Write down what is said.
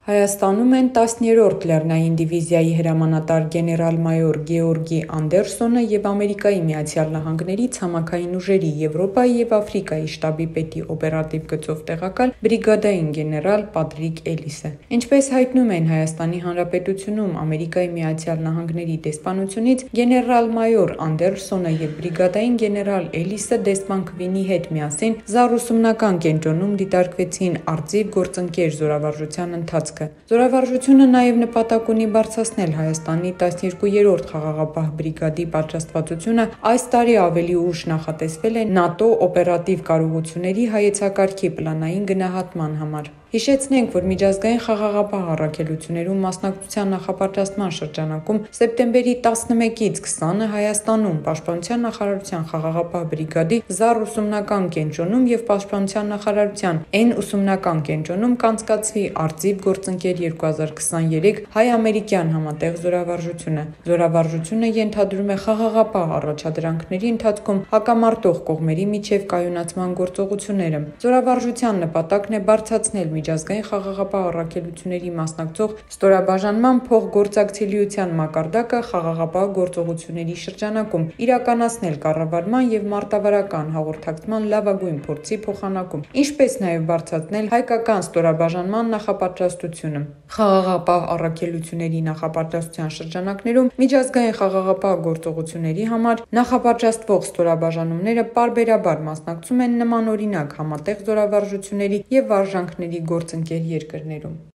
Հայաստանում են 10-րդ լեռնային դիվիզիայի հրամանատար գեներալ-մայոր Գեորգի Անդերսոնը և Ամերիկայի Միացյալ Նահանգների ցամաքային ուժերի Եվրոպայի և Աֆրիկայի շտաբի պետի օպերատիվ գծով տեղակալ բրիգադային գեներալ Պատրիկ Էլիսը։ Ինչպես հայտնում են Հայաստանի Հանրապետությունում Ամերիկայի Միացյալ Նահանգների դեսպանությունից, գեներալ-մայոր Անդերսոնը և բրիգադային գեներալ Էլիսը դեսպան Քվինի հետ միասին ԶԱՌ ուսումնական կենտրոնում դիտարկվեցին արծիվ գործընկեր զորավարժության ընթացքը։ Զորավարժությունը նաև նպատակ ունի բարձրացնել Հայաստանի 12-րդ խաղաղապահ բրիգադի պատրաստվածությունը այս տարի ավելի ուշ նախատեսվել է ՆԱՏՕ օպերատիվ կարողությունների հայեցակարգի պլանային գնահատման համար։ Հիշեցնենք, որ միջազգային խաղաղապահ առաքելություններում մասնակցության նախապատրաստման շրջանակում սեպտեմբերի 11-ից 20-ը Հայաստանում Պաշտպանության նախարարության խաղաղապահ բրիգադի ԶԱՌ ուսումնական կենտրոնում և Պաշտպանության նախարարության N ուսումնական կենտրոնում կանցկացվի արծիվ գործընկեր 2023 հայ-ամերիկյան համատեղ զորավարժությունը։ Զորավարժությունը ենթադրում է խաղաղապահ առաջադրանքների ընթացքում հակամարտող կողմերի միջև կայունացման գործողությունները։ Զորավարժության նպատակն է բարձրացնել միջազգային խաղաղապահ առաքելությունների մասնակցող ստորաբաժանման փոխգործակցելիության մակարդակը խաղաղապահ գործողությունների շրջանակում, իրականացնել կառավարման և մարտավարական հաղորդակցման լավագույն փորձի փոխանակում, ինչպես նաև բարձրացնել հայկական ստորաբաժանման նախապատրաստությունը։ Խաղաղապահ առաքելությունների նախապատրաստության շրջանակներում միջազգային խաղաղապահ գործողությունների համար նախապատրաստվող ստորաբաժանումները պարբերաբար մասնակցում են նմանօրինակ համատեղ զորավարժությունների և վարժանքների գործընկեր երկրներում։